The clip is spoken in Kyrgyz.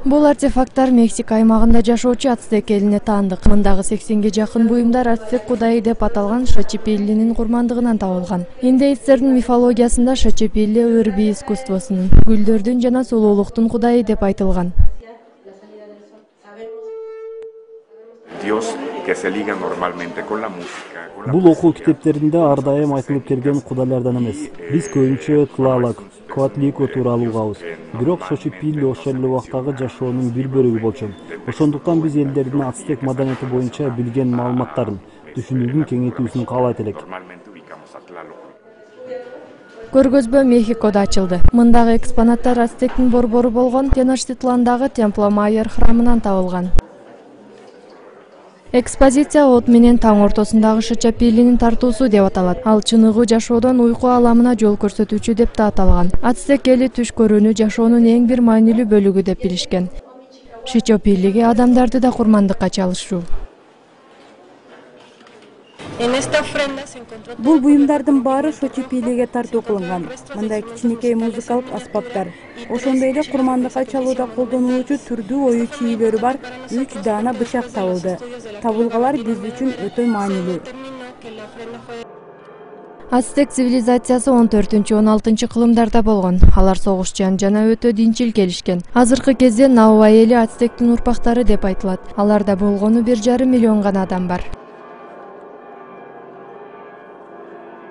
Бул артефакттар Мексика аймагында жашоочу ацтек элине таандык. Мындагы 80ге жакын буюмдар ацтек кудайы деп аталган Шочепеллинин курмандыгынан табылган. Индеецтердин мифологиясында Шочепелли ыр бий искусствосунун, гүлдөрдүн жана сулуулуктун кудайы деп айтылган. Бул окуу китептеринде ар дайым айтылып келген кудайлардан эмес. Биз көбүнчө Тлалок, Коатлико тууралуу угабыз. Бирок Шочепелли ошол эле убактагы жашоонун бир бөлүгү болчу. Ошондуктан биз элдердин ацтек маданияти боюнча билген маалыматтарын, түшүнүүгүн кеңейтүүсүн каалайт элек. Көргөзмө Мехикодо ачылды. Мындагы экспонаттар ацтектин борбору болгон Теночтитландагы Темпло Майер храмынан табылган. Экспозиция от менен таң ортосундагы Шочепеллинин тартуусу деп аталат. Ал чыныгы жашоодон уйку аламына жол көрсөтүүчү деп да аталган. Ацтек эли түш көрүүнү жашоонун эң бир маанилүү бөлүгү деп билишкен. Шочепеллиге адамдарды да курмандыкка чалышуу. Бул буюмдардын баары Шочепеллиге тартуу кылынган. Мындай кичинекей музыкалык аспаптар. Ошондой эле курмандыкка чалууда колдонулуучу түрдүү ою чийлөрү бар 3 даана бычак табылды. Табылгалар биз үчүн өтө маанилүү. Ацтек цивилизациясы 14-16 кылымдарда болгон. Алар согушчан жана өтө динчил келишкен. Азыркы кезде Науа эли ацтектин урпактары деп айтылат. Аларда болгону 1,5 миллион гана адам бар.